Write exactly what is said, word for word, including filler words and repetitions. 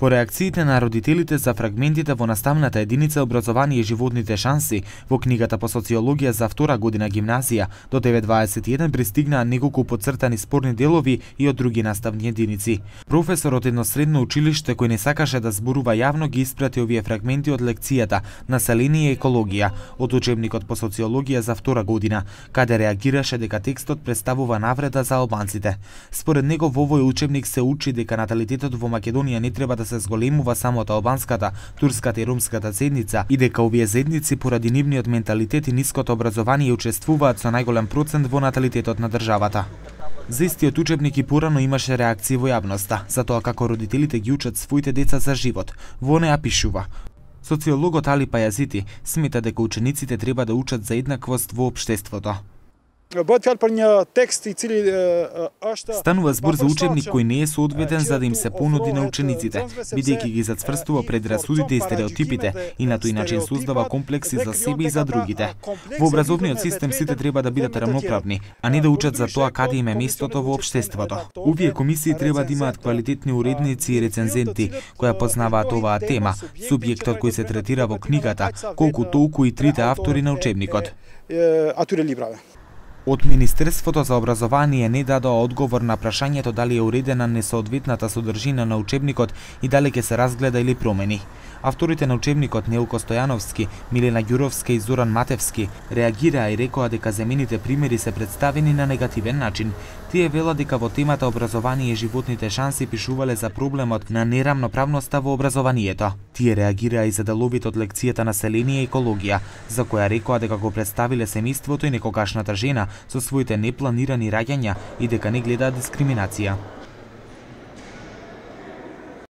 По реакциите на родителите за фрагментите во наставната единица образование и животните шанси во книгата по социологија за втора година гимназија, до девет дваесет и еден пристигнаа неколку поцртани спорни делови и од други наставни единици. Професор од едно средно училиште кој не сакаше да зборува јавно ги испрати овие фрагменти од лекцијата Население и екологија од учебникот по социологија за втора година, каде реагираше дека текстот представува навреда за албанците. Според него во овој учебник се учи дека наталитетот во Македонија не треба да се зголемува само од албанската, турската и ромската заедница и дека овие заедници поради нивниот менталитет и ниското образование учествуваат со најголем процент во наталитетот на државата. За истиот учебник и порано имаше реакции во јавноста, за тоа како родителите ги учат своите деца за живот. Во неа пишува: социологот Али Пајазити смета дека учениците треба да учат за еднаквост во општеството. Bëhet fjalë për një tekst I cili është Станува збор за учебник кој не е соодветен за да им се понуди на учениците, бидејќи ги зацврстува предрасудите и стереотипите и на тој начин создава комплекси за себе и за другите. Во образовниот систем сите треба да бидат рамноправни, а не да учат за тоа каде им е местото во општеството. Овие комисии треба да имаат квалитетни уредници и рецензенти кои познаваат оваа тема, субјектот кој се третира во книгата, колку толку и трите автори на учебникот. Од Министерството за образование не дадоа одговор на прашањето дали е уредена несоодветната содржина на учебникот и дали ќе се разгледа или промени. Авторите на учебникот Нејлко Стојановски, Милена Ѓуровска и Зоран Матевски реагираа и рекоа дека земените примери се представени на негативен начин. Тие велат дека во темата образование и животните шанси пишувале за проблемот на нерамноправноста во образованието. Тие реагираа и за деловите од лекцијата Население и екологија, за која рекоа дека го представиле семејството и некогашната жена со своите непланирани раѓања и дека не гледаат дискриминација.